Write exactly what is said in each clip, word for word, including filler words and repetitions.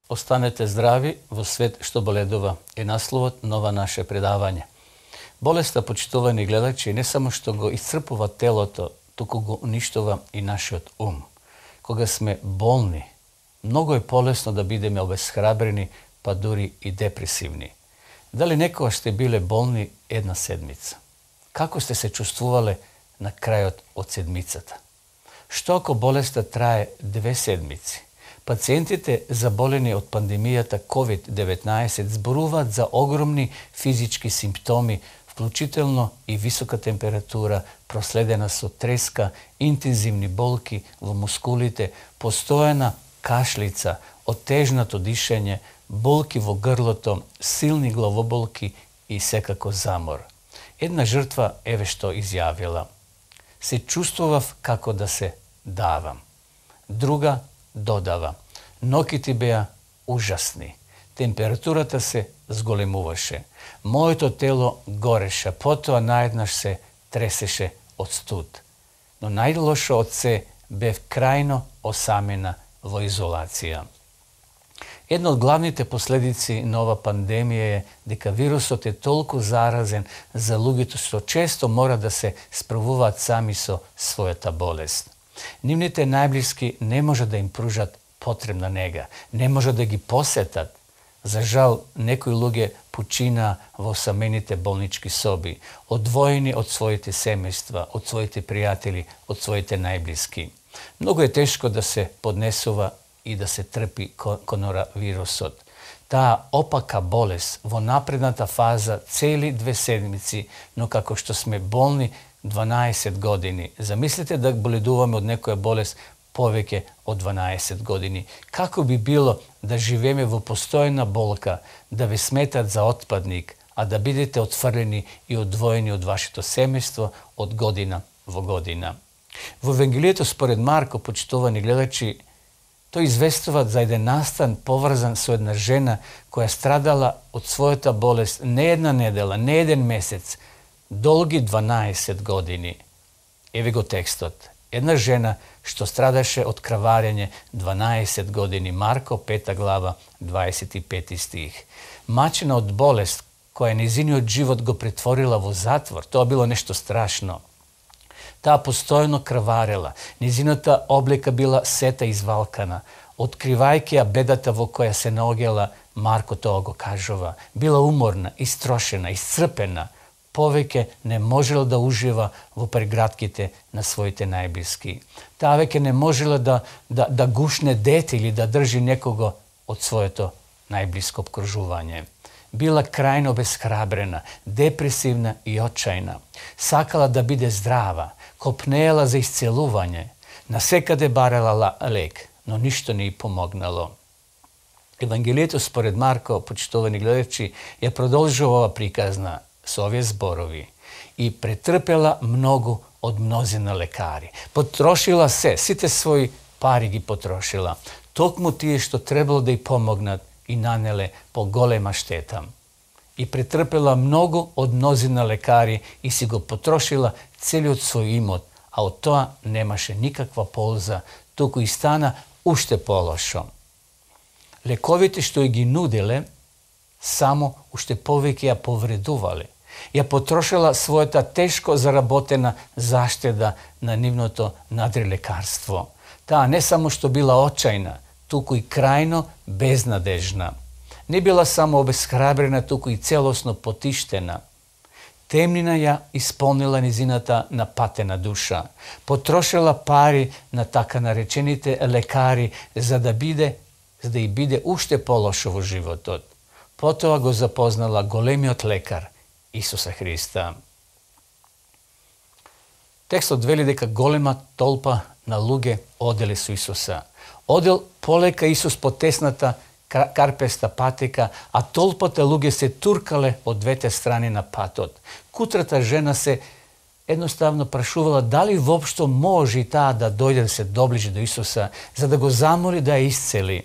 Останете здрави во свет што боледува е насловот на ова наше предавање. Болеста, почитувани гледачи, не само што го исцрпува телото, туку го уништува и нашиот ум. Кога сме болни, многу е полесно да бидеме обесхрабрени, па дури и депресивни. Дали некогаш сте биле болни една седмица? Како сте се чувствувале на крајот од седмицата? Што ако болеста трае две седмици? Пациентите заболени од пандемијата ковид деветнаесет зборуваат за огромни физички симптоми, вклучително и висока температура, проследена со треска, интензивни болки во мускулите, постојана кашлица, отежнато дишење, болки во грлото, силни главоболки и секако замор. Една жртва еве што изјавила: се чувствував како да се давам. Друга додава: ноките беа ужасни. Температурата се зголемуваше. Моето тело гореше, потоа наеднаш се тресеше од студ. Но најлошо од се бев крајно осамена во изолација. Една од главните последици на ова пандемија е дека вирусот е толку заразен за луѓето што често мора да се справуваат сами со својата болест. Нивните најблиски не може да им пружат потребна нега, не може да ги посетат. За жал, некои луѓе починаа во самените болнички соби, одвоени од своите семејства, од своите пријатели, од своите најблиски. Многу е тешко да се поднесува и да се трпи коронавирусот. Таа опака болест во напредната фаза цели две седмици, но како што сме болни дванаесет години. Замислете да боледуваме од некоја болест повеќе од дванаесет години. Како би било да живееме во постојна болка, да ве сметат за отпадник, а да бидете отфрлени и одвоени од вашето семејство од година во година? Во Евангелието според Марко, почитувани гледачи, тој известува за еден настан поврзан со една жена која страдала од својата болест не една недела, не еден месец, долги дванаесет години. Еве го текстот. Една жена што страдаше од краварење дванаесет години, Марко пета глава, дваесет и пети стих. Мачена од болест која незиниот живот го претворила во затвор, тоа било нешто страшно. Таа постојно краварела, незината облека била сета извалкана, откривајќи ја бедата во која се наоѓала, Марко тоа го кажува. Била уморна, истрошена, исцрпена, повеќе не можела да ужива во прегратките на своите најблиски. Таа веќе не можела да, да, да гушне дете или да држи некого од своето најблиско обкружување. Била крајно безхрабрена, депресивна и очајна. Сакала да биде здрава, копнеела за исцелување, насекаде барала лек, но ништо не ѝ помогнало. Евангелието според Марко, почитувани гледачи, ја продолжува ова приказна со овие зборови: и претрпела многу од мнозина лекари. Потрошила се, сите своји пари ги потрошила. Токму тие што требало да ѝ помогнат и нанеле поголема штета. И претрпела многу од мнозина лекари и си го потрошила целиот свој имот, а од тоа немаше никаква полза, туку и стана уште полошо. Лековите што ги нуделе, само уште повеќе ја повредувале. Ја потрошила својата тешко заработена заштеда на нивното надрилекарство. Таа не само што била очајна, туку и крајно безнадежна. Не била само обесхрабрена, туку и целосно потиштена. Темнина ја исполнила низината напатена душа. Потрошила пари на така наречените лекари за да биде, за да и биде уште полошо во животот. Потоа го запознала големиот лекар, Исуса Христа. Текстот вели дека голема толпа на луѓе оделе со Исуса. Одел полека Исус по тесната карпеста патека, а толпата луѓе се туркале од двете страни на патот. Кутрата жена се едноставно прашувала дали воопшто може и таа да дојде да се доближи до Исуса, за да го замоли да ја исцели.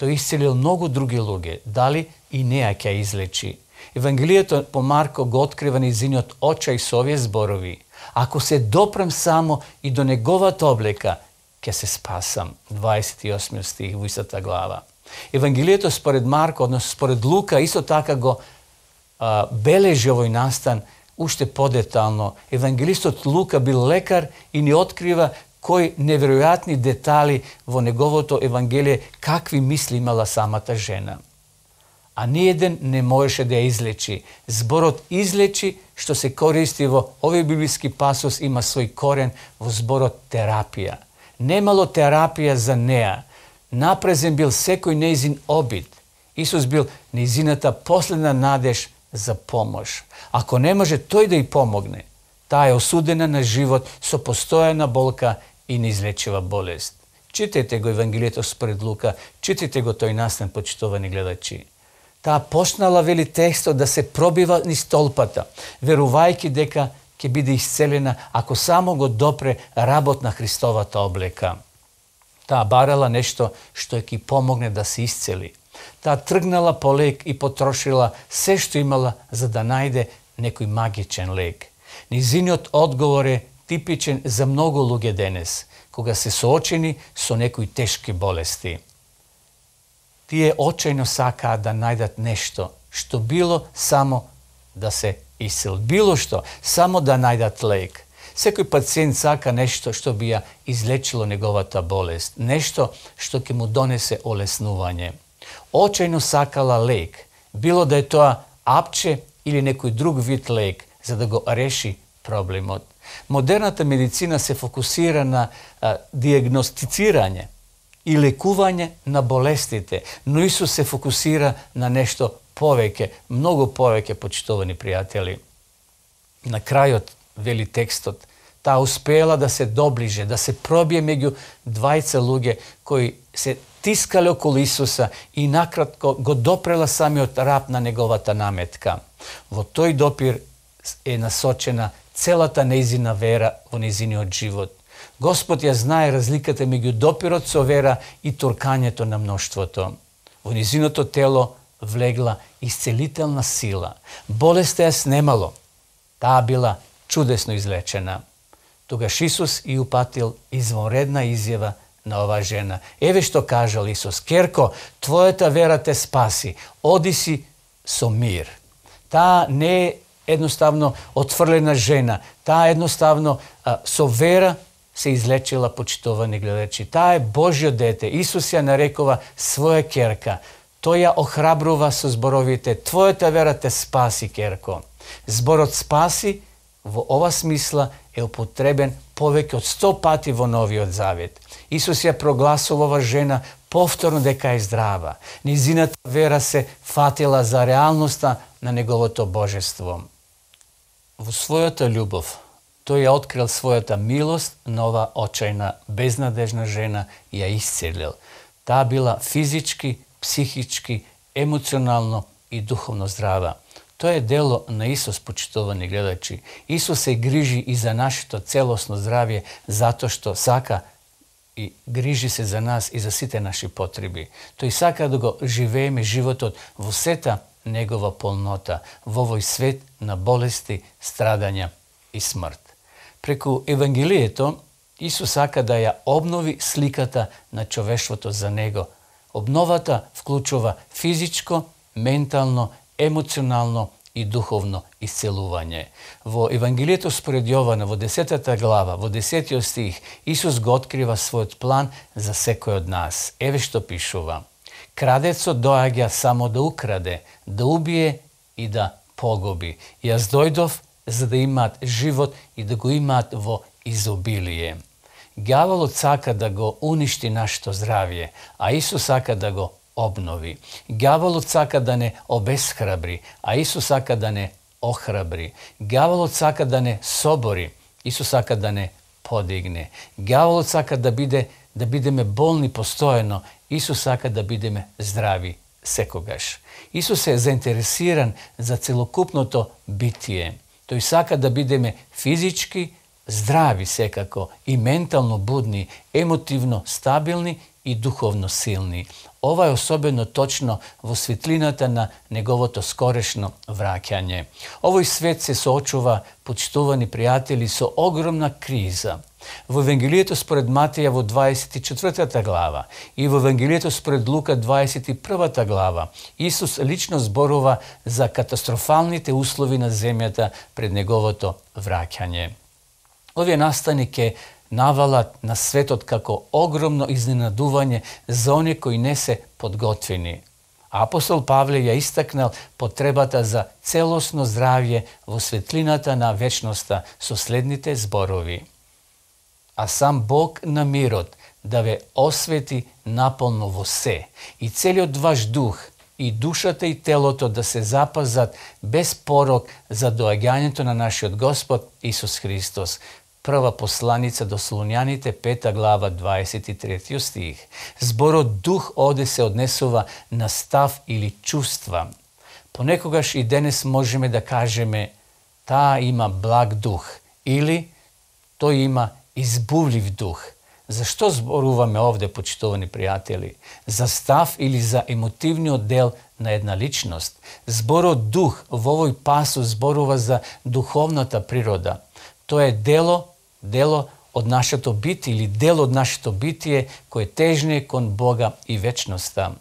Тој исцелил многу други луѓе, дали и неа ќе ја излечи. Евангелието по Марко го открива низиниот очај со овие зборови: ако се допрем само и до неговата облека, ќе се спасам. дваесет и осми стих во истата глава. Евангелието според Марко, односно според Лука, исто така го а, бележи овој настан уште подетално. Евангелистот Лука бил лекар и ни открива кои неверојатни детали во неговото Евангелие, какви мисли имала самата жена. А ниеден не можеше да ја излечи. Зборот излечи, што се користи во овој библиски пасос, има свој корен во зборот терапија. Немало терапија за неа. Напрезен бил секој неизин обид. Исус бил неизината последна надеж за помош. Ако не може тој да ја помогне, таа е осудена на живот со постојана болка и неизлечива болест. Читајте го Евангелието според Лука, читајте го тој настан, почитувани гледачи. Таа почнала, вели текстот, да се пробива низ толпата, верувајќи дека ќе биде исцелена ако само го допре работ на Христовата облека. Таа барала нешто што ќе помогне да се исцели. Таа тргнала по лек и потрошила се што имала за да најде некој магичен лек. Низиниот одговор е типичен за многу луѓе денес, кога се соочени со некои тешки болести. Тие очајно сакаат да најдат нешто, што било само да се исцел. Било што, само да најдат лек. Секој пациент сака нешто што би ја излечило неговата болест, нешто што ќе му донесе олеснување. Очајно сакала лек, било да е тоа апче или некој друг вид лек, за да го реши проблемот. Модерната медицина се фокусира на а, диагностицирање и лекување на болестите, но Исус се фокусира на нешто повеќе, многу повеќе, почитувани пријатели. На крајот, вели текстот, таа успеела да се доближе, да се пробие меѓу двајца луѓе кои се тискале околу Исуса и накратко го допрела самиот рап на неговата наметка. Во тој допир е насочена целата нејзина вера во нејзиниот живот. Господ ја знае разликата меѓу допирот со вера и туркањето на мноштвото. Во нејзиното тело влегла исцелителна сила. Болеста ја снемало. Таа била чудесно излечена. Тогаш Исус и упатил извонредна изјава на оваа жена. Еве што кажал Исус: "Керко, твојата вера те спаси. Оди си со мир." Таа не е едноставно отфрлена жена. Таа едноставно а, со вера се излечила, почитувани гледачи. Таа е Божјо дете. Исус ја нарекува своја керка. Тој ја охрабрува со зборовите: "Твојата вера те спаси, керко." Зборот спаси во ова смисла е употребен повеќе од сто пати во Новиот Завет. Исус ја прогласува ова жена повторно дека е здрава. Низината вера се фатила за реалноста на неговото божество. Во својата љубов, тој ја открил својата милост на ова очајна, безнадежна жена и ја исцелил. Таа била физички, психички, емоционално и духовно здрава. Тоа е дело на Исус, почитувани гледачи. Исус се грижи и за нашето целосно здравје, затоа што сака и грижи се за нас и за сите наши потреби. Тој сака да го живееме животот во сета негова полнота, во овој свет на болести, страдања и смрт. Преку Евангелието, Исус сака да ја обнови сликата на човештвото за него. Обновата вклучува физичко, ментално, емоционално и духовно исцелување. Во Евангелието според Јована, во десетата глава, во десетиот стих, Исус го открива својот план за секој од нас. Еве што пишува: "Крадецот доаѓа само да украде, да убие и да погуби. Јас дојдов за да имаат живот и да го имаат во изобилие." Ѓаволот сака да го уништи нашето здравје, а Исус сака да го обнови. Ѓаволот сака да не обесхрабри, а Исус сака да не охрабри. Ѓаволот сака да не собори, Исус сака да не подигне. Ѓаволот сака да биде да бидеме болни постојано, Исус сака да бидеме здрави секогаш. Исус е заинтересиран за целокупното битие. Тој сака да бидеме физички здрави секако и ментално будни, емотивно стабилни и духовно силни. Ова е особено точно во светлината на неговото скорешно враќање. Овој свет се соочува, почитувани пријатели, со огромна криза. Во Евангелието според Матеја во дваесет и четвртата глава и во Евангелието според Лука дваесет и првата глава Исус лично зборува за катастрофалните услови на земјата пред неговото враќање. Овие настани ке навалат на светот како огромно изненадување за оние кои не се подготвени. Апостол Павле ја истакнал потребата за целосно здравје во светлината на вечноста со следните зборови. А сам Бог на мирот да ве освети наполно во се, и целиот ваш дух, и душата и телото да се запазат без порок за доаѓањето на нашиот Господ Исус Христос. Прва посланица до Солуњаните, пета глава, дваесет и трети стих. Зборот дух оде се однесува на став или чувства. Понекогаш и денес можеме да кажеме таа има благ дух или тој има избувлив дух. Зашто зборуваме овде, почитувани пријатели? За став или за емотивниот дел на една личност? Зборот дух во овој пасус зборува за духовната природа. Тоа е дело, дело од нашето битие или дел од нашето битие кој тежне кон Бога и вечноста.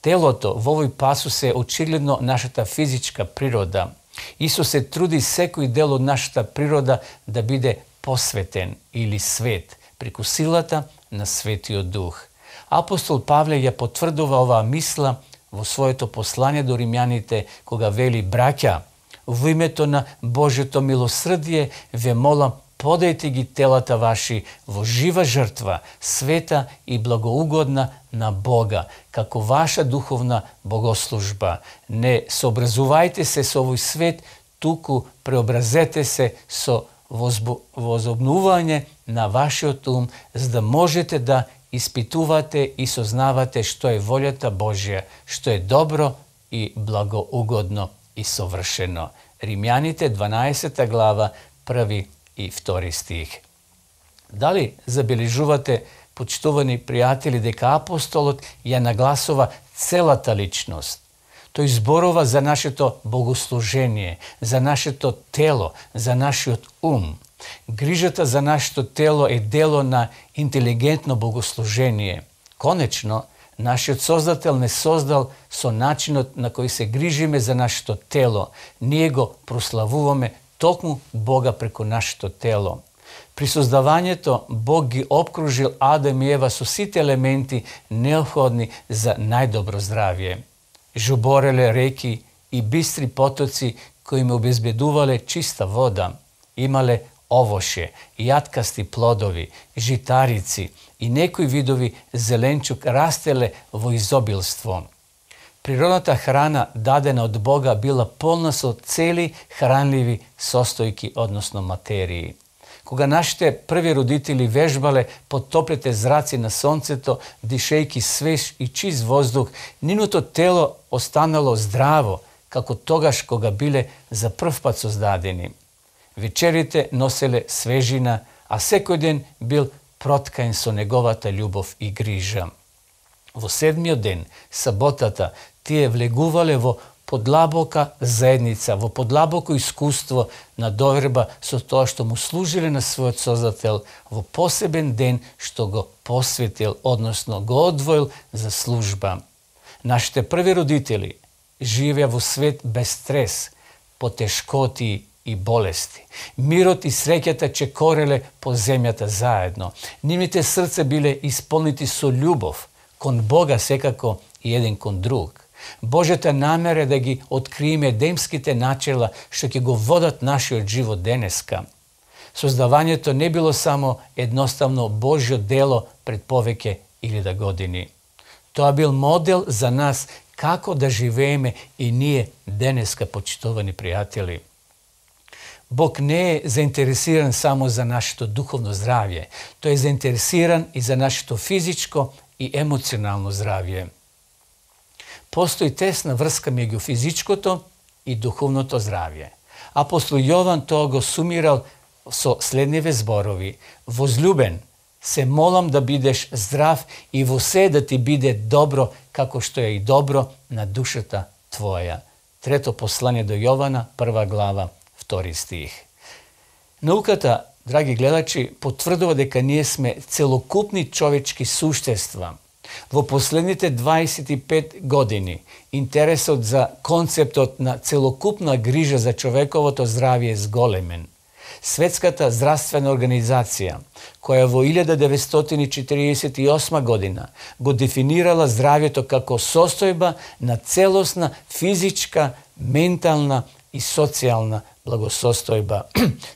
Телото во овој пасус е очигледно нашата физичка природа. Исус се труди секој дел од нашата природа да биде посветен или свет, преку силата на Светиот Дух. Апостол Павле ја потврдува оваа мисла во своето послание до римјаните, кога вели: браќа, во името на Божјото милосрдие ве молам, подајте ги телата ваши во жива жртва, света и благоугодна на Бога, како ваша духовна богослужба. Не сообразувајте се со овој свет, туку преобразете се со возобнување на вашиот ум, за да можете да испитувате и сознавате што е волјата Божја, што е добро и благоугодно и совршено. Римјаните дванаесета глава, први и втори стих. Дали забележувате, почитувани пријатели, дека апостолот ја нагласува целата личност? Тој зборува за нашето богослужение, за нашето тело, за нашиот ум. Грижата за нашето тело е дело на интелигентно богослужение. Конечно, нашиот Создател не создал со начинот на кој се грижиме за нашето тело. Ние го прославуваме токму Бога преку нашето тело. При создавањето Бог ги обкружил Адам и Ева со сите елементи неопходни за најдобро здравје. Жубореле реки и бистри потоци кои им обезбедувале чиста вода. Имале овоше, јаткасти плодови, житарици и некои видови зеленчук растеле во изобилство. Природната храна дадена од Бога била полна со цели хранливи состојки, односно материи. Кога нашите први родители вежбале под топлите зраци на сонцето, дишејки свеж и чист воздух, нивното тело останало здраво, како тогаш кога биле за прв пат создадени. Вечерите носеле свежина, а секој ден бил проткаен со неговата љубов и грижа. Во седмиот ден, саботата, тие влегувале во подлабока заедница, во подлабоко искуство на доверба со тоа што му служиле на својот Создател во посебен ден што го посветил, односно го одвоил за служба. Нашите први родители живеа во свет без стрес, потешкоти и болести. Мирот и среќата чекореле по земјата заедно. Нивните срца биле исполнити со љубов кон Бога секако и еден кон друг. Божјата намера да ги откриеме едемските начела што ќе го водат нашиот живот денеска. Создавањето не било само едноставно Божјо дело пред повеќе илјада години. Тоа бил модел за нас како да живееме и ние денеска, почитувани пријатели. Бог не е заинтересиран само за нашето духовно здравје. Тој е заинтересиран и за нашето физичко и емоционално здравје. Постои тесна врска меѓу физичкото и духовното здравје. Апостол Јован тоа го сумирал со следниве зборови: возлюбен, се молам да бидеш здрав и во се да ти биде добро, како што е и добро на душата твоја. Трето послание до Јована, прва глава, втори стих. Науката, драги гледачи, потврдува дека ние сме целокупни човечки суштества. Во последните дваесет и пет години интересот за концептот на целокупна грижа за човековото здравје е зголемен. Светската здравствена организација, која во илјада деветстотини четиридесет и осма година го дефинирала здравјето како состојба на целосна физичка, ментална и социјална благосостојба,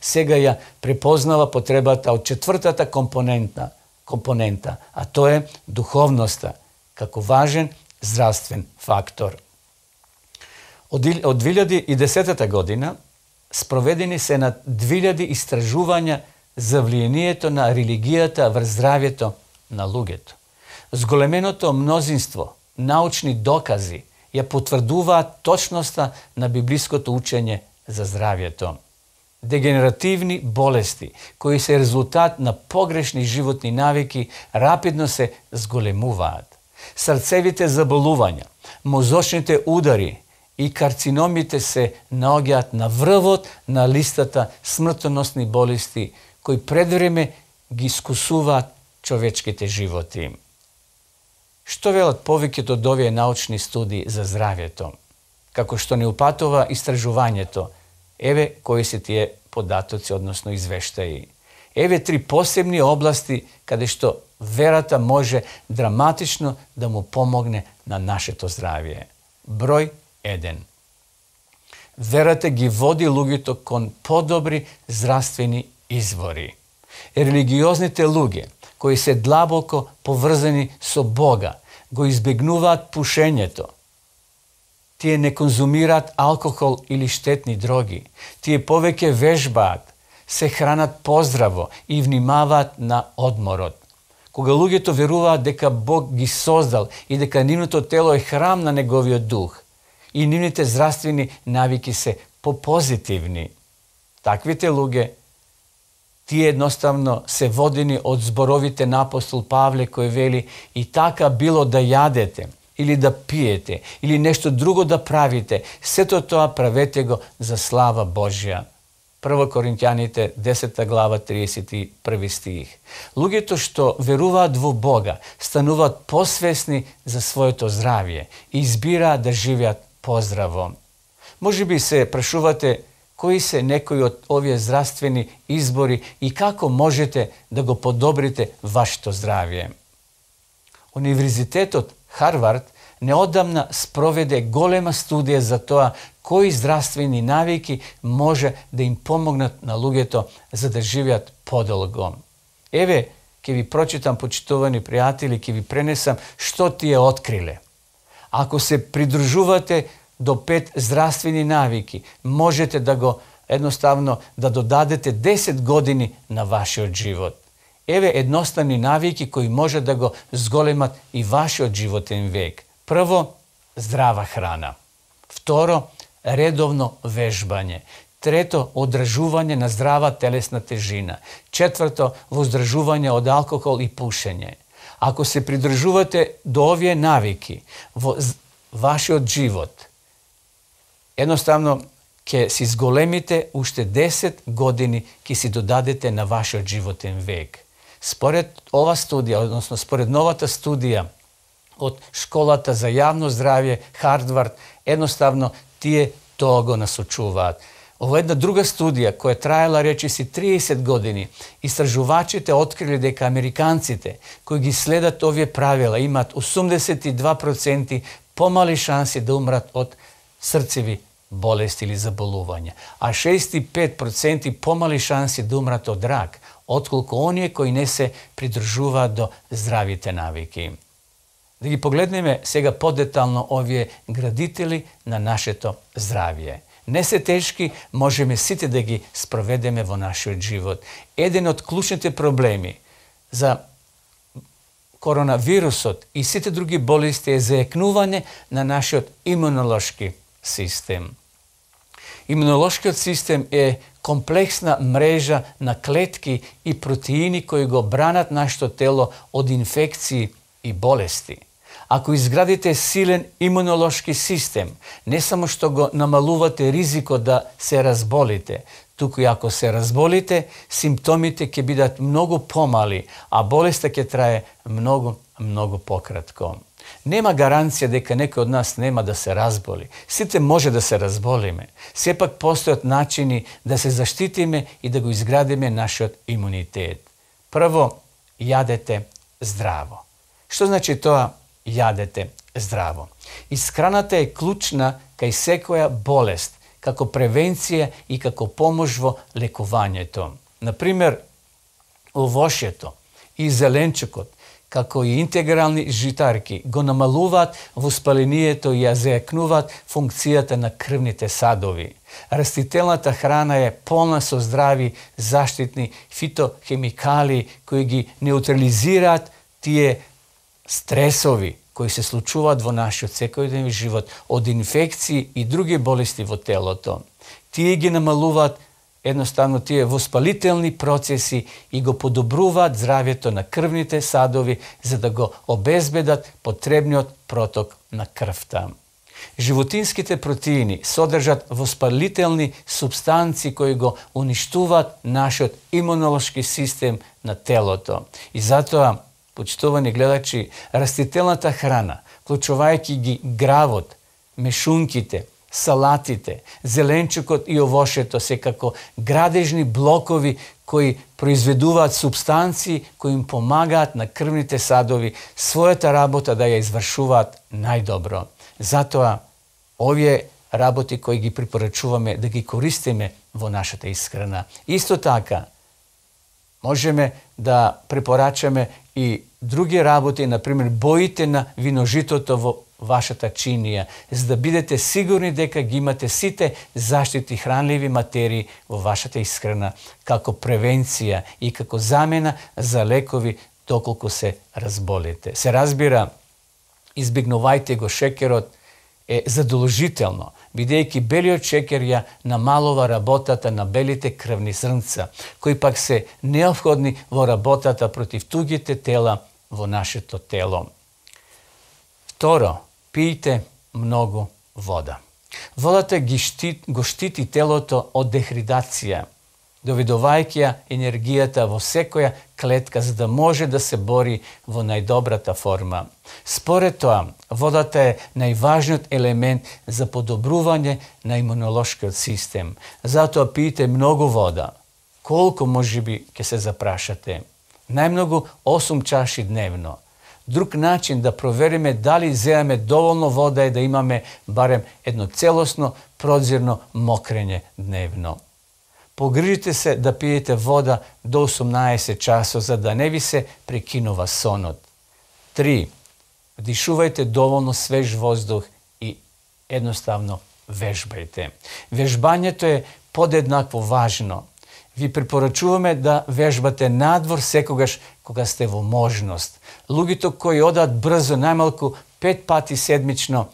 сега ја препознава потребата од четвртата компонента, компонента, а тоа е духовноста, како важен здравствен фактор. Од две илјади и десета година спроведени се над две илјади истражувања за влијанието на религијата врз здравјето на луѓето. Зголеменото мнозинство научни докази ја потврдуваат точноста на библиското учење за здравјето. Дегенеративни болести, кои се резултат на погрешни животни навики, рапидно се зголемуваат. Срцевите заболувања, мозочните удари и карциномите се наоѓаат на врвот на листата смртоносни болести, кои предвреме ги искусуваат човечките животи. Што велат повеќето од овие научни студии за здравјето? Како што не упатува истражувањето, еве кои се тие податоци, односно извештаи. Еве три посебни области каде што верата може драматично да му помогне на нашето здравје. Број еден. Верата ги води луѓето кон подобри здравствени извори. Религиозните луѓе, кои се длабоко поврзани со Бога, го избегнуваат пушењето. Тие не конзумираат алкохол или штетни дроги. Тие повеќе вежбаат, се хранат поздраво и внимаваат на одморот. Кога луѓето веруваат дека Бог ги создал и дека нивното тело е храм на неговиот дух, и нивните здравствени навики се попозитивни, таквите луѓе, тие едноставно се водени од зборовите на апостол Павле кој вели: и така било да јадете, или да пиете, или нешто друго да правите, сето тоа правете го за слава Божја. Прво Коринќаните, десета глава, тридесет и први стих. Луѓето што веруваат во Бога стануваат посвесни за своето здравје и избираат да живеат поздраво. Може би се прашувате кои се некои од овие здравствени избори и како можете да го подобрите вашето здравје. Универзитетот Харвард неодамна спроведе голема студија за тоа кои здравствени навики може да им помогнат на луѓето за да живеат подолго. Еве, ќе ви прочитам, почитувани пријатели, ќе ви пренесам што тие откриле. Ако се придружувате до пет здравствени навики, можете да го едноставно да додадете десет години на вашиот живот. Еве едноставни навики кои може да го зголемат и вашиот животен век. Прво, здрава храна. Второ, редовно вежбање. Трето, одржување на здрава телесна тежина. Четврто, воздржување од алкохол и пушење. Ако се придржувате до овие навики во вашиот живот, едноставно ќе си зголемите уште десет години, ќе си додадете на вашиот животен век. Според ова студија, односно според новата студија од Школата за јавно здравје Харвард, едноставно тие тоа го насочуваат. Ова една друга студија која траела речиси триесет години, истражувачите открили дека американците кои ги следат овие правила имаат осумдесет и два проценти помали шанси да умрат од срцеви болести или заболувања, а шеесет и пет проценти помали шанси да умрат од рак, отколку оние кои не се придржуваат до здравите навики. Да ги погледнеме сега подетално овие градители на нашето здравје. Не се тешки, можеме сите да ги спроведеме во нашиот живот. Еден од клучните проблеми за коронавирусот и сите други болести е заекнување на нашиот имунолошки систем. Имунолошкиот систем е комплексна мрежа на клетки и протеини кои го бранат нашето тело од инфекции и болести. Ако изградите силен имунолошки систем, не само што го намалувате ризикот да се разболите, туку и ако се разболите, симптомите ќе бидат многу помали, а болеста ќе трае многу, многу пократко. Нема гаранција дека некој од нас нема да се разболи. Сите може да се разболиме. Сепак постојат начини да се заштитиме и да го изградиме нашиот имунитет. Прво, јадете здраво. Што значи тоа јадете здраво? Исхраната е клучна кај секоја болест, како превенција и како помош во лекувањето. Например, овошјето и зеленчукот, како и интегрални житарки, го намалуваат воспалението и ја зајакнуваат функцијата на крвните садови. Растителната храна е полна со здрави, заштитни фитохемикали кои ги неутрализираат тие стресови кои се случуваат во нашиот секојдневен живот од инфекции и други болести во телото. Тие ги намалуваат едноставно тие воспалителни процеси и го подобруваат здравјето на крвните садови за да го обезбедат потребниот проток на крвта. Животинските протеини содржат воспалителни супстанции кои го уништуваат нашиот имунолошки систем на телото. И затоа, почитувани гледачи, растителната храна, вклучувајќи ги гравот, мешунките, салатите, зеленчукот и овошето се како градежни блокови кои произведуваат супстанции кои им помагаат на крвните садови својата работа да ја извршуваат најдобро. Затоа, овие работи кои ги препорачуваме да ги користиме во нашата исхрана. Исто така, можеме да препорачаме и други работи, например, боите на виножитото во вашата чинија, за да бидете сигурни дека ги имате сите заштити хранливи материи во вашата исхрана, како превенција и како замена за лекови доколку се разболите. Се разбира, избегнувајте го шекерот, е задолжително, бидејќи белиот шекер ја намалува работата на белите крвни зрнца, кои пак се неопходни во работата против тугите тела во нашето тело. Второ, пијте многу вода. Водата ги штит, го штити телото од дехидратација, доведувајќи ја енергијата во секоја клетка за да може да се бори во најдобрата форма. Според тоа, водата е најважниот елемент за подобрување на имунолошкиот систем. Затоа пијте многу вода. Колку можеби ќе се запрашате? Најмногу осум чаши дневно. Друг начин да провериме дали земаме доволно вода е да имаме барем едно целосно прозирно мокрење дневно. Погрижите се да пиете вода до осумнаесет часот за да не ви се прекинува сонот. Три. Вдишувајте доволно свеж воздух и едноставно вежбајте. Вежбањето е подеднакво важно. Ви препорачуваме да вежбате надвор секогаш кога сте во можност. Луѓето кои одат брзо најмалку пет пати седмично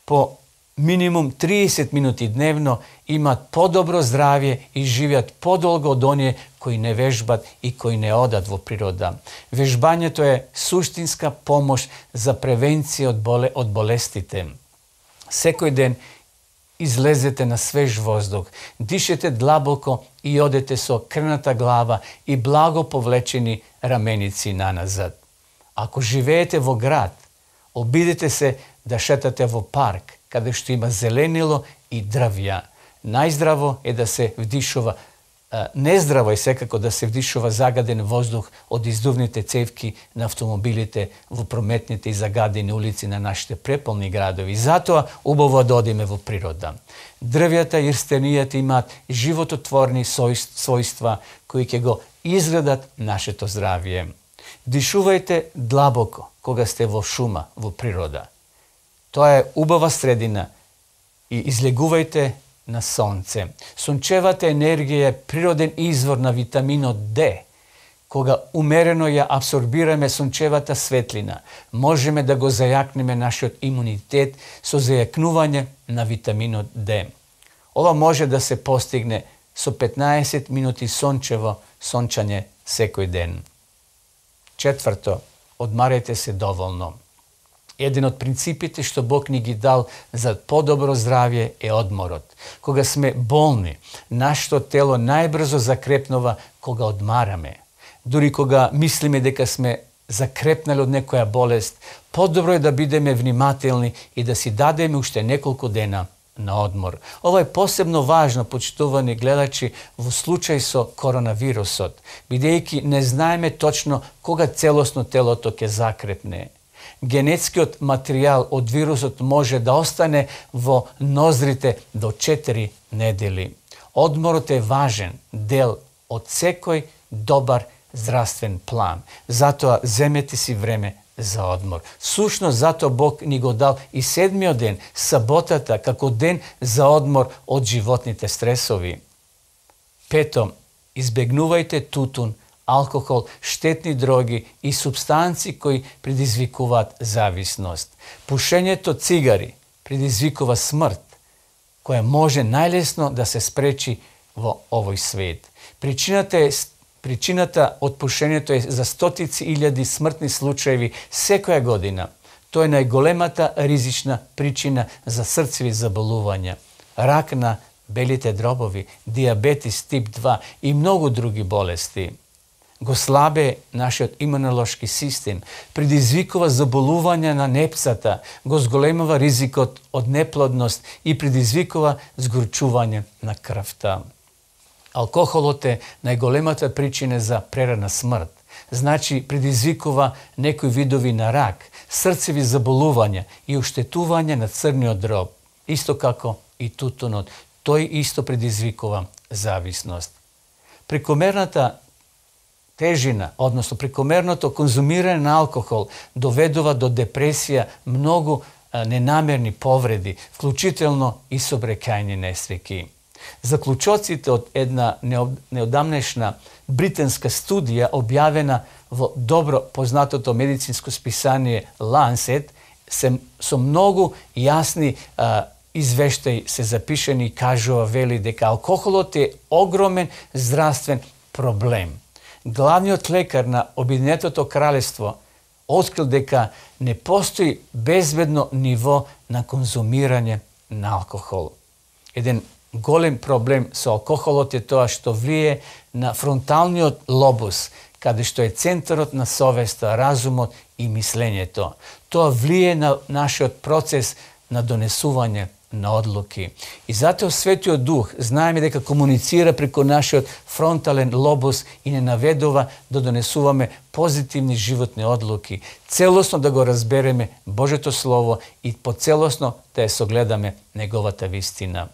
по минимум триесет минути дневно имаат подобро здравје и живеат подолго од оние кои не вежбат и кои не одат во природа. Вежбањето е суштинска помош за превенција од, боле, од болестите. Секој ден излезете на свеж воздух, дишете длабоко и одете со крната глава и благо повлечени раменици наназад. Ако живеете во град, обидете се да шетате во парк, каде што има зеленило и дрвја. Најздраво е да се вдишува, нездраво е секако да се вдишува загаден воздух од издувните цевки на автомобилите во прометните и загадени улици на нашите преполни градови. Затоа убаво да одиме во природа. Дрвјата и рстенијата имаат живототворни својства кои ќе го изградат нашето здравје. Дишувајте длабоко кога сте во шума, во природа. Тоа е убава средина и излегувајте на сонце. Сончевата енергија е природен извор на витаминот Д. Кога умерено ја абсорбираме сончевата светлина, можеме да го зајакнеме нашиот имунитет со зајакнување на витаминот Д. Ова може да се постигне со петнаесет минути сончево сончање секој ден. Четврто, одмарете се доволно. Еден од принципите што Бог ни ги дал за подобро здравје е одморот. Кога сме болни, нашето тело најбрзо закрепнува кога одмараме. Дури кога мислиме дека сме закрепнали од некоја болест, подобро е да бидеме внимателни и да си дадеме уште неколку дена на одмор. Ова е посебно важно, почитувани гледачи, во случај со коронавирусот, бидејќи не знаеме точно кога целосно телото ќе закрепне. Генетскиот материјал од вирусот може да остане во ноздрите до четири недели. Одморот е важен дел од секој добар здравствен план. Затоа земете си време за одмор. Сушно затоа Бог ни го дал и седмиот ден, саботата, како ден за одмор од животните стресови. Пето, избегнувајте тутун, алкохол, штетни дроги и супстанци кои предизвикуваат зависност. Пушењето цигари предизвикува смрт, која може најлесно да се спречи во овој свет. Причината е Причината од пушењето е за стотици илјади смртни случаеви секоја година. Тоа е најголемата ризична причина за срцеви заболувања, рак на белите дробови, диабетис тип два и многу други болести. Го слабе нашиот имунолошки систем, предизвикува заболувања на непцата, го зголемува ризикот од неплодност и предизвикува згорчување на крвта. Алкохолот е најголемата причина за прерана смрт. Значи, предизвикува некои видови на рак, срцеви заболувања и оштетување на црниот дроб, исто како и тутунот. Тој исто предизвикува зависност. Прекомерната тежина, односно прекомерното конзумирање на алкохол доведува до депресија, многу ненамерни повреди, вклучително и собрекајни несреќи. Заклучоците од една неодамнешна британска студија објавена во добро познатото медицинско списание Lancet се со многу јасни а, извештаи се запишени и кажува, вели дека алкохолот е огромен здравствен проблем. Главниот лекар на Обединетото кралество открил дека не постои безбедно ниво на конзумирање на алкохол. Еден голем проблем со алкохолот е тоа што влие на фронталниот лобус, каде што е центарот на совеста, разумот и мислењето. Тоа влие на нашиот процес на донесување на одлуки. И затоа Светиот Дух знаеме дека комуницира преку нашиот фронтален лобус и не наведува да донесуваме позитивни животни одлуки, целосно да го разбереме Божето Слово и поцелосно да ја согледаме неговата вистина.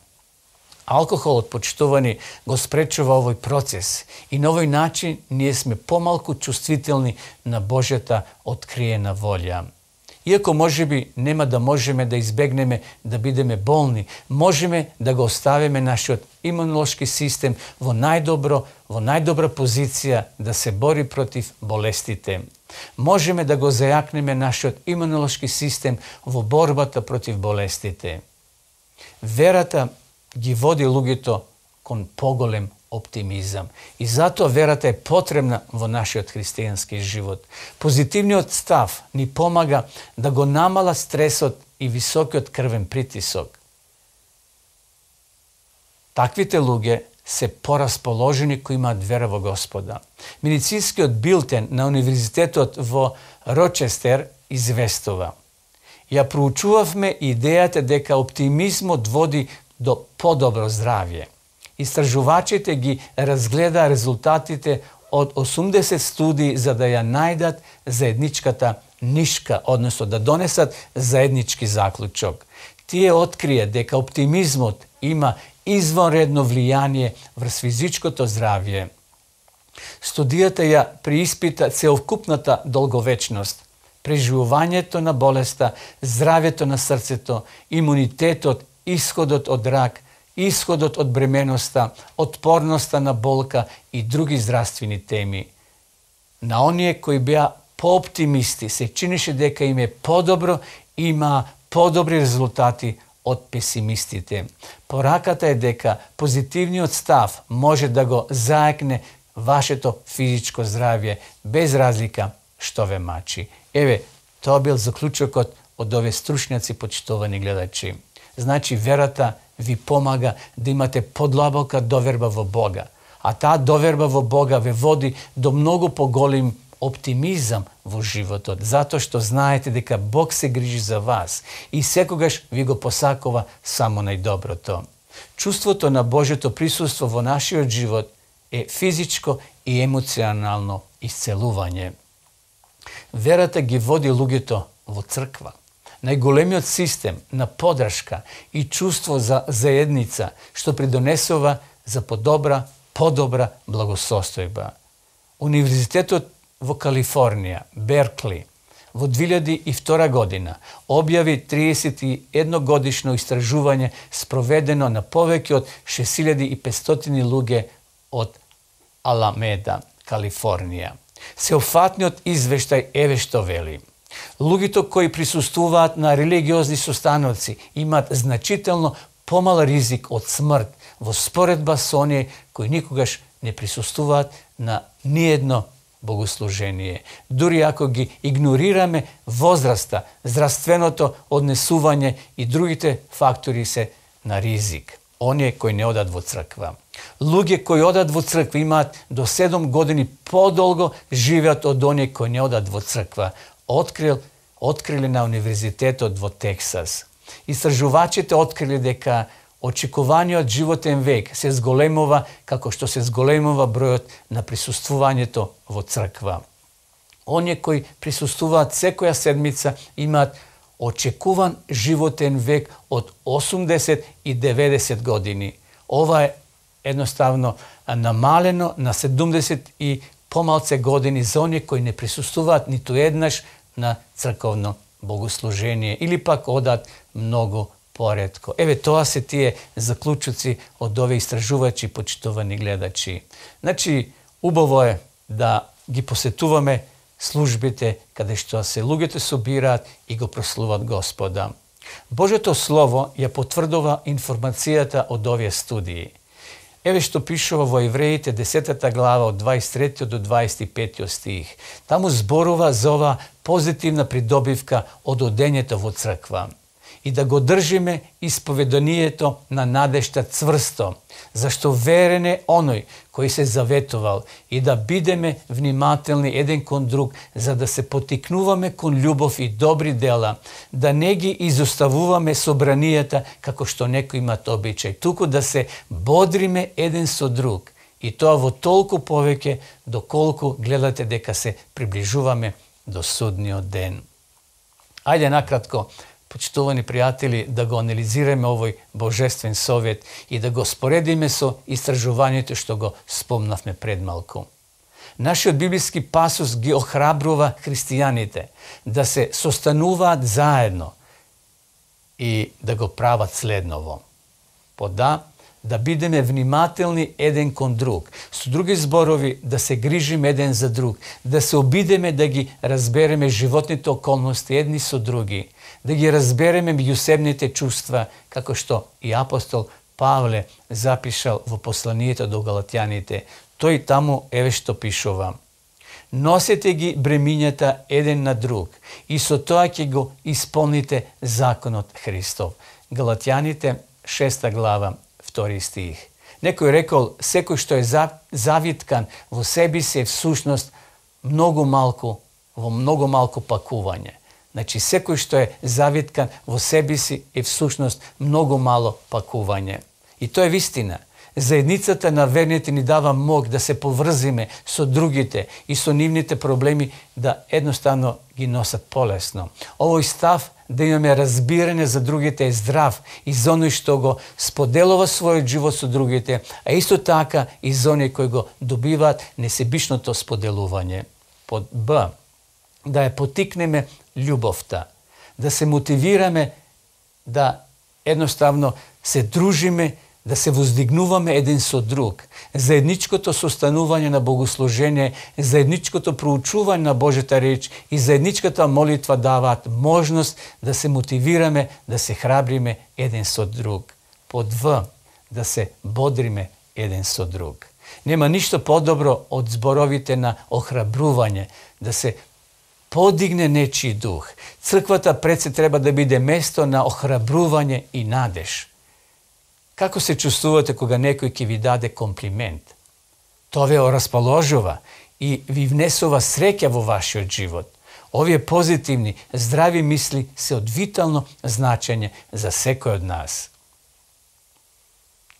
Алкохолот, почитувани, го спречува овој процес и на овој начин ние сме помалку чувствителни на Божјата откриена волја. Иако можеби нема да можеме да избегнеме да бидеме болни, можеме да го оставиме нашиот имунолошки систем во најдобро, во најдобра позиција да се бори против болестите. Можеме да го зајакнеме нашиот имунолошки систем во борбата против болестите. Верата ги води луѓето кон поголем оптимизам. И затоа верата е потребна во нашиот христијански живот. Позитивниот став ни помага да го намала стресот и високиот крвен притисок. Таквите луѓе се порасположени кои имаат вера во Господа. Медицинскиот билтен на Универзитетот во Рочестер известува: ја проучувавме идејата дека оптимизмот води до подобро здравје. Истражувачите ги разгледа резултатите од осумдесет студии за да ја најдат заедничката нишка, односно да донесат заеднички заклучок. Тие открие дека оптимизмот има извонредно влијание врз физичкото здравје. Студијата ја прииспита целокупната долговечност, преживувањето на болеста, здравјето на срцето, имунитетот, исходот од рак, исходот од бременоста, отпорноста на болка и други здравствени теми. На оние кои беа пооптимисти се чинеше дека им е подобро, има подобри резултати од песимистите. Пораката е дека позитивниот став може да го заекне вашето физичко здравје без разлика што ве мачи. Еве, тоа бил заклучокот од овие стручњаци, почитувани гледачи. Значи, верата ви помага да имате подлабока доверба во Бога, а таа доверба во Бога ве води до многу поголем оптимизам во животот, затоа што знаете дека Бог се грижи за вас и секогаш ви го посакува само најдоброто. Чувството на Божјото присуство во нашиот живот е физичко и емоционално исцелување. Верата ги води луѓето во црква. Најголемиот систем на подршка и чувство за заедница што придонесува за подобра, подобра благосостојба. Универзитетот во Калифорнија, Беркли, во две илјади и втора година објави триесет и едно годишно истражување спроведено на повеќе од шест илјади и петстотини луѓе од Аламеда, Калифорнија. Сеопфатниот извештај еве што вели. Луѓето кои присуствуваат на религиозни состаноци имаат значително помал ризик од смрт во споредба со оние кои никогаш не присуствуваат на ниедно богослужение. Дури ако ги игнорираме возраста, здравственото однесување и другите фактори се на ризик. Оние кои не одат во црква. Луѓе кои одат во црква имаат до седум години подолго живеат од оние кои не одат во црква. Открил, открили на универзитетот во Тексас. Истражувачите открили дека очекуваниот животен век се зголемува како што се зголемува бројот на присуствувањето во црква. Оние кои присуствуваат секоја седмица имаат очекуван животен век од осумдесет и деветдесет години. Ова е едноставно намалено на седумдесет и помалце години за оние кои не присуствуваат ниту еднаш на црковно богослужение или пак одат многу поретко. Еве, тоа се тие заклучоци од овие истражувачи, почитувани гледачи. Значи, убаво е да ги посетуваме службите каде што се луѓето собираат и го прославуваат Господа. Божјото Слово ја потврдува информацијата од овие студии. Еве што пишува во Евреите десетата глава од дваесет и трети до дваесет и пети стих. Таму зборува за ова позитивна придобивка од одењето во црква. И да го држиме исповеданието на надежта цврсто, зашто верен е оној кој се заветувал, и да бидеме внимателни еден кон друг, за да се потикнуваме кон љубов и добри дела, да не ги изоставуваме собранијата како што некои имат обичај, туку да се бодриме еден со друг, и тоа во толку повеќе доколку гледате дека се приближуваме до судниот ден. Ајде накратко, почитувани пријатели, да го анализираме овој божествен совет и да го споредиме со истражувањето што го спомнавме пред малку. Нашиот библиски пасус ги охрабрува христијаните да се состануваат заедно и да го прават следново. Пода, да бидеме внимателни еден кон друг, со други зборови да се грижиме еден за друг, да се обидеме да ги разбереме животните околности едни со други, да ги разбереме меѓусебните чувства, како што и апостол Павле запишал во посланието до Галатјаните. Тој таму еве што пишува. Носете ги бремињата еден на друг и со тоа ќе го исполните законот Христов. Галатјаните шеста глава, втори стих. Некој рекол, секој што е завиткан во себе си е всушност многу малку, во многу малку пакување. Значи, секој што е завиткан во себе си е всушност многу мало пакување. И тоа е вистина. Заедницата на верните ни дава мог да се поврзиме со другите и со нивните проблеми да едноставно ги носат полесно. Овој став да имаме разбирање за другите е здрав и за оној што го споделува својот живот со другите, а исто така и за оние кои го добиваат несебичното споделување. Под Б. Да ја потикнеме љубовта, да се мотивираме да едноставно се дружиме да се воздигнуваме еден со друг, заедничкото состанување на богослужение, заедничкото проучување на Божјата реч и заедничката молитва даваат можност да се мотивираме, да се храбриме еден со друг. Под В, да се бодриме еден со друг. Нема ништо подобро од зборовите на охрабрување, да се подигне нечи дух. Црквата пред се треба да биде место на охрабрување и надеж. Како се чувствувате кога некој ќе ви даде комплимент? Тоа ве расположува и ви внесува среќа во вашиот живот. Овие позитивни, здрави мисли се од витално значење за секој од нас.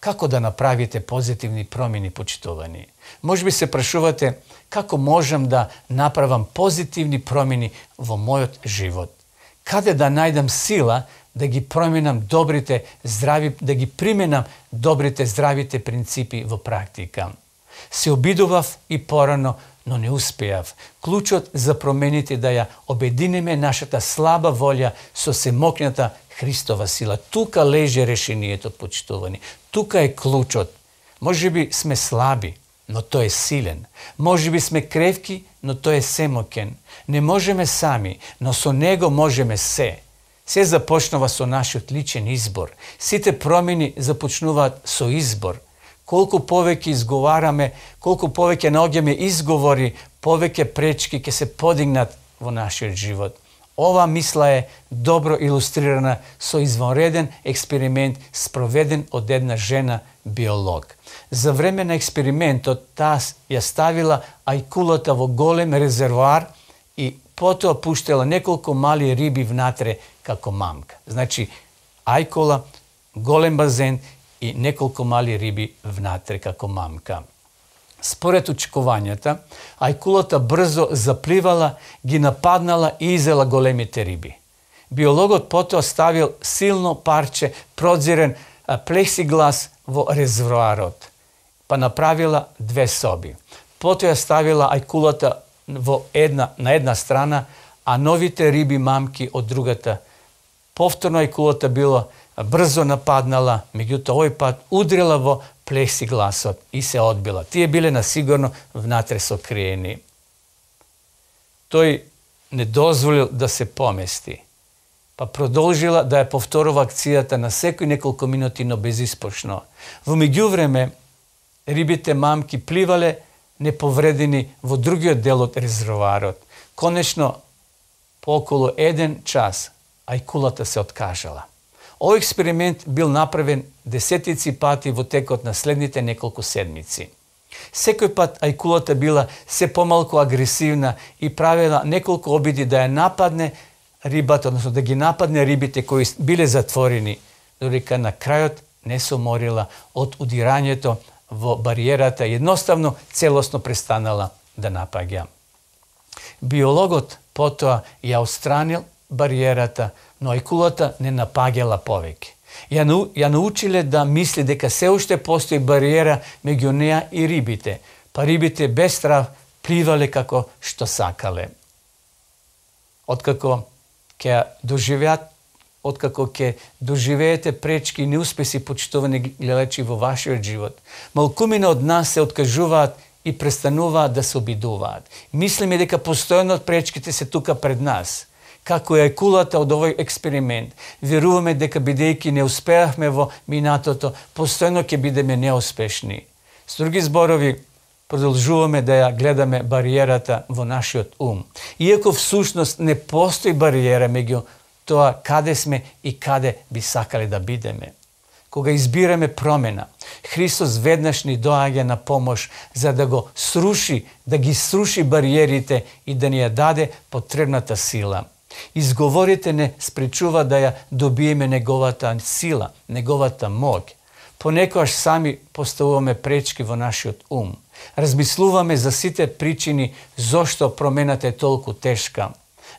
Како да направите позитивни промени, почитувани? Можеби се прашувате како можам да направам позитивни промени во мојот живот? Каде да најдам сила да ги променам добрите, здрави, да ги применам добрите, здравите принципи во практика? Се обидував и порано, но не успеав. Клучот за промените да ја обединиме нашата слаба волја со семокната Христова сила. Тука лежи решението, почитувани. Тука е клучот. Може би сме слаби, но тој е силен. Може би сме кревки, но тој е семокен. Не можеме сами, но со него можеме се. Се започнува со нашиот личен избор. Сите промени започнуваат со избор. Колку повеќе изговараме, колку повеќе наоѓаме изговори, повеќе пречки ќе се подигнат во нашиот живот. Ова мисла е добро илустрирана со извонреден експеримент спроведен од една жена биолог. За време на експериментот таа ја ставила ајкулата во голем резервоар и потоа пуштела неколку мали риби внатре како мамка. Значи, ајкула, голем базен и неколку мали риби внатре како мамка. Според очекувањата, ајкулата брзо запливала, ги нападнала и изела големите риби. Биологот потоа ставил силно парче продзирен плексиглас во резервоарот, па направила две соби. Потоа ја ставила ајкулата во една, на една страна, а новите риби мамки од другата. Повторно ајкулата била брзо нападнала, меѓутоа овој пат удрила во плексигласот и се одбила. Тие биле насигурно внатре сокриени. Тој не дозволил да се помести, па продолжила да ја повторува акцијата на секој неколку минути, но безиспошно. Во меѓувреме, рибите мамки пливале неповредени во другиот дел од резервоарот. Конечно, по околу еден час, ајкулата се откажала. Овој експеримент бил направен десетици пати во текот на следните неколку седмици. Секој пат ајкулата била се помалку агресивна и правила неколку обиди да ја нападне рибата, односно да ги нападне рибите кои биле затворени, додека на крајот не се уморила од удирањето во бариерата и едноставно целосно престанала да напаѓа. Биологот потоа ја отстранил бариерата, но ајкулата не напаѓала повеќе. Ја, ја научиле да мисли дека се уште постои бариера меѓу неа и рибите, па рибите без страв пливале како што сакале. Откако ќе доживеат, откако ќе доживеете пречки и неуспеси, почитувани гледачи, во вашиот живот, малкумина од нас се откажуваат и престануваат да се обидуваат. Мислиме дека постојано пречките се тука пред нас. Како е ајкулата од овој експеримент, веруваме дека бидејќи не успеавме во минатото, постојано ќе бидеме неуспешни. С други зборови, продолжуваме да ја гледаме бариерата во нашиот ум. Иако всушност не постои бариера меѓу тоа каде сме и каде би сакале да бидеме. Кога избираме промена, Христос веднаш ни доаѓа на помош за да го сруши, да ги сруши бариерите и да ни ја даде потребната сила. Изговорите не спречува да ја добиеме неговата сила, неговата моќ. Понекогаш сами поставуваме пречки во нашиот ум. Размислуваме за сите причини зошто промената е толку тешка.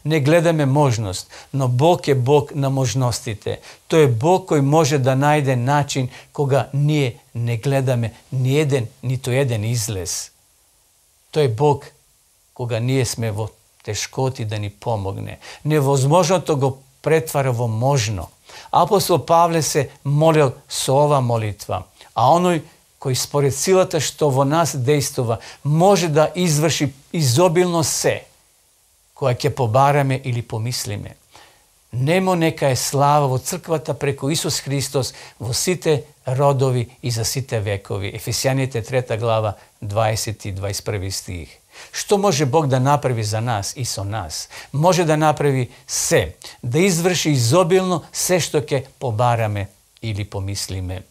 Не гледаме можност, но Бог е Бог на можностите. Тој е Бог кој може да најде начин кога ние не гледаме ни еден, ниту еден излез. Тој е Бог кога ние сме во тешкоти да ни помогне. Невозможното го претвара во можно. Апостол Павле се молил со ова молитва. А оној кој според силата што во нас дејствува, може да изврши изобилно се, која ќе побараме или помислиме. Немо нека е слава во црквата преку Исус Христос во сите родови и за сите векови. Ефесијаните трета глава, дваесет и дваесет и први стих. Што може Бог да направи за нас и со нас? Може да направи се, да изврши изобилно се што ќе побараме или помислиме.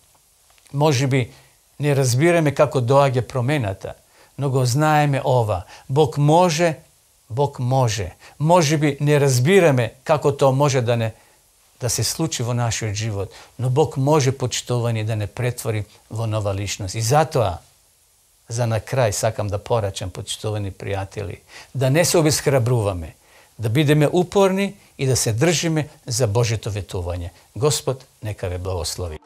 Може би не разбираме како доаѓа промената, но го знаеме ова. Бог може, Бог може. Може би не разбираме како тоа може да не да се случи во нашиот живот, но Бог може, почитувани, да не претвори во нова личност. И затоа, за на крај сакам да порачам, почитувани пријатели, да не се обесхрабруваме, да бидеме упорни и да се држиме за Божјето ветување. Господ нека ве благослови.